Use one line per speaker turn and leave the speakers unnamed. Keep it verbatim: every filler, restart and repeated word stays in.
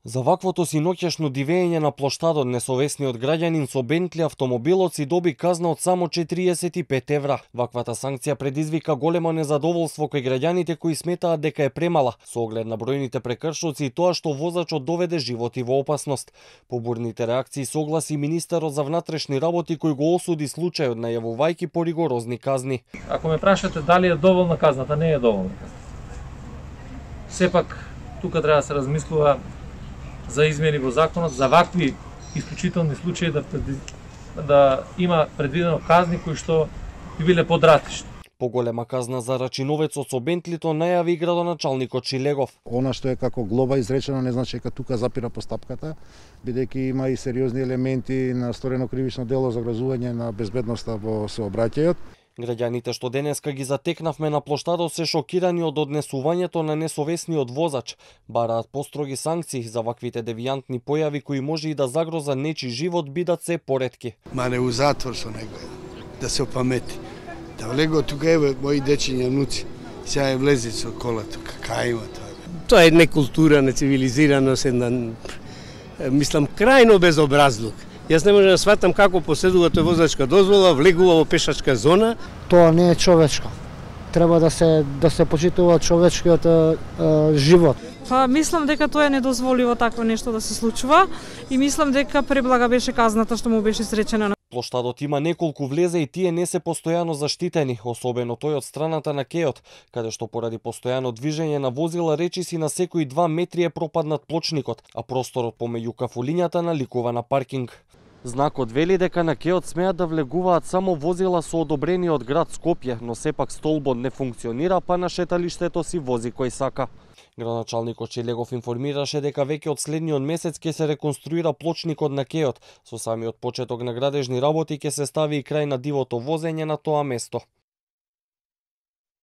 За ваквото синоќашно дивење на плоштадот несовесниот граѓанин со Бентли автомобилот си доби казна од само четириесет и пет евра. Ваквата санкција предизвика големо незадоволство кај граѓаните кои сметаат дека е премала, со оглед на бројните прекршоци и тоа што возачот доведе животи во опасност. По бурните реакции согласи министерот за внатрешни работи кој го осуди случајот, најавувајќи поригорозни казни.
Ако ме прашате дали е доволна казната, не е доволна. Сепак тука треба да се размислува за измени во законот, за вакви исклучителни случаи да, да има предвидено казни кои што би биле подратишни.
Поголема казна за рачиновецот со Бентлито најави и градоначалникот Шилегов.
Она што е како глоба изречено не значи дека тука запира постапката, бидејќи има и сериозни елементи на сторено кривично дело за вразување на безбедноста во сообраќајот.
Граѓаните што денеска ги затекнавме на плоштадот се шокирани од однесувањето на несовесниот возач. Бараат построги санкции за ваквите девијантни појави кои може и да загрозат нечи живот бидат се поретки.
Ма не у затвор со него, да се опамети. Да влего тука еве мои дечиња внуци, сега е влезе со кола тука, кај има тоа?
Тоа е некултура, нецивилизираност, една, мислам, крајно безобразлук. Јас не можам да сватам како поседува тој возачка дозвола, влегува во пешачка зона.
Тоа не е човечко. Треба да се да се почитува човечкиот е, е, живот.
Па мислам дека тоа е недозволиво такво нешто да се случува и мислам дека преблага беше казната што му беше изречена.
Плоштадот има неколку влеза и тие не се постојано заштитени, особено тој од страната на кејот, каде што поради постојано движење на возила речиси на секои два метри е пропаднат плочникот, а просторот помеѓу кафулињата наликува на паркинг. Знакот вели дека на кејот смеат да влегуваат само возила со одобрени од град Скопје, но сепак столбот не функционира, па на шеталиштето си вози кој сака. Градоначалникот Шилегов информираше дека веќе од следниот месец ќе се реконструира плочникот на кејот. Со самиот почеток на градежни работи ќе се стави и крај на дивото возење на тоа место.